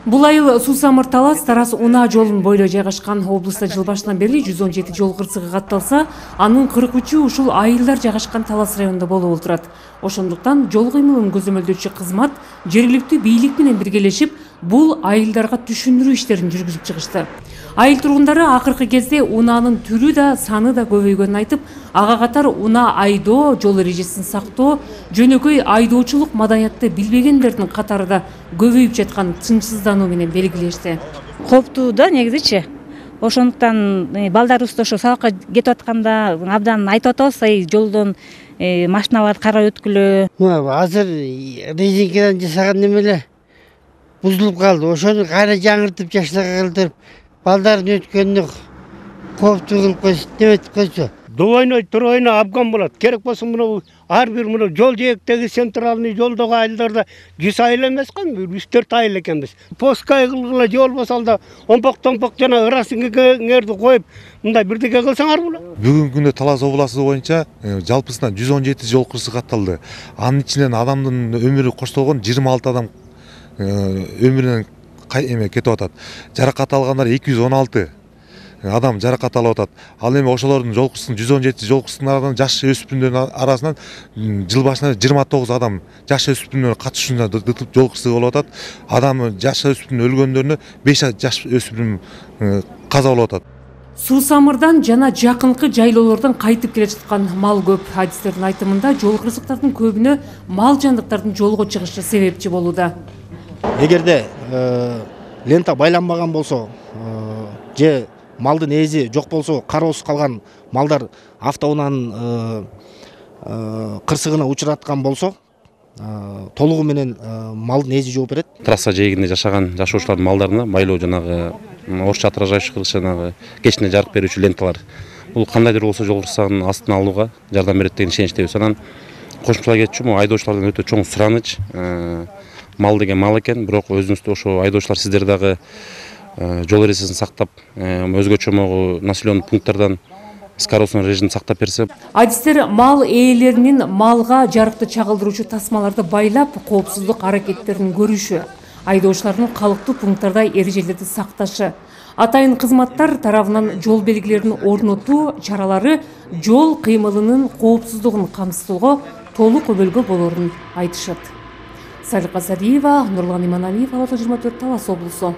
Бул айыл Суусамыр Талас Тарас Унаа жолун бойлой жайгашкан. Облуста жыл башынан бери 117 жол кырсыгы катталса, анын 43-ü ушул айылдар жайгашкан Талас районунда болуп отурат. Ошондуктан жол кыймылын көзөмөлдөөчү кызмат жергиликтүү бийлик менен биргелешип бул айылдарга түшүндүрүү иштерин жүргүзүп чыгышты. Айыл тургундары акыркы кезде унаанын түрү да саны да көбөйгөнүн айтып, ага катар унаа айдоо, жол эрежесин сактоо, жөнөкөй айдоочулук маданиятты билбегендердин катары да көбөйүп жаткан тынчсыздануу менен белгилешти. Коптуу да негизичи. Ошондуктан балдарыбызды ошо сабакка кетип атканда абдан айтып атабыз, жолдон машиналарды карап өткүлө. Азыр резинкадан жасаган немелер бузулуп калды. Ошону кайра жаңыртып жаштарга калтырып, балдардын өткөнүнө коптуу кылып койсо, деп койсо. Двойной, тройной абган болот. Керек болсо мына ар бир мына жол жээктеги центральный жолдогу айылдарда 100 айыл эмес го, 3-4 айыл экенбиз. Поскай кылгыла же болбосо алда омпок-томпок жана ырасыңерди коюп, мындай бирдеке кылсаңар болот. Бүгүнкү күндө Талас областы боюнча жалпысынан 117 жол кырсыгы катталды. Анын ичинен адамдын өмүрү коштолгон 26 адам өмүрүнөн кетип атат. Жаракат алгандар 216 адам жаракат алып атат. Ал эми ошолордун жол кырсыгын 117 жол кырсыгынын жаш өспүрүмдөрдүн арасынан жыл башынан 29 адам жаш өспүрүмдөрдүн катышуусунда жол кырсыгы болуп атат. Адам жаш өспүрүм өлгөндөрүнө 5 жаш өспүрүм каза болуп атат. Суусамырдан жана жакынкы жайлоолордон кайтып келе жаткан мал көп. Адистердин айтымында жол кырсыктардын көбүнө мал жандыктардын жолго чыгышы себепчи болууда. Эгерде лента байланбаган болсо же малдын ээзи жок болсо, кароосуз калган малдар автоунаанын кырсыгына учураткан болсо, толугу менен малдын ээзи жооп берет. Трасса жээгинде жашаган жашоочулардын малдарына байлоо жанагы орусча отражающий кылыш жанагы кечине жарык берүүчү ленталар. Бул кандайдыр болсо жол кырсыгынын астын алууга жардам берет деген ишеничтебиз. Анан кошумчалай кетчү, айдоочулардан өтө чоң сураныч. Мал деген мал экен, бирок өзүңүздө ошо айдоочулар сиздер дагы жол эрежесин сактап, өзгөчө могу населенный пункттардан скоростной режимди сактап берсе. Адистер мал ээлеринин малга жарыкты чагылдыруучу тасмаларды байлап, коопсуздук аракеттерин көрүшү, айдоочулардын калыптуу пункттарда эрежелерди сакташы, атайын кызматтар тарабынан жол белгилерин орнотуу чаралары жол кыймылынын коопсуздугун камсыздоого толук өбөлгө болорун айтышат. Салика Садиева, Нурлан Иманалиев, Ала 24, Талас облусу.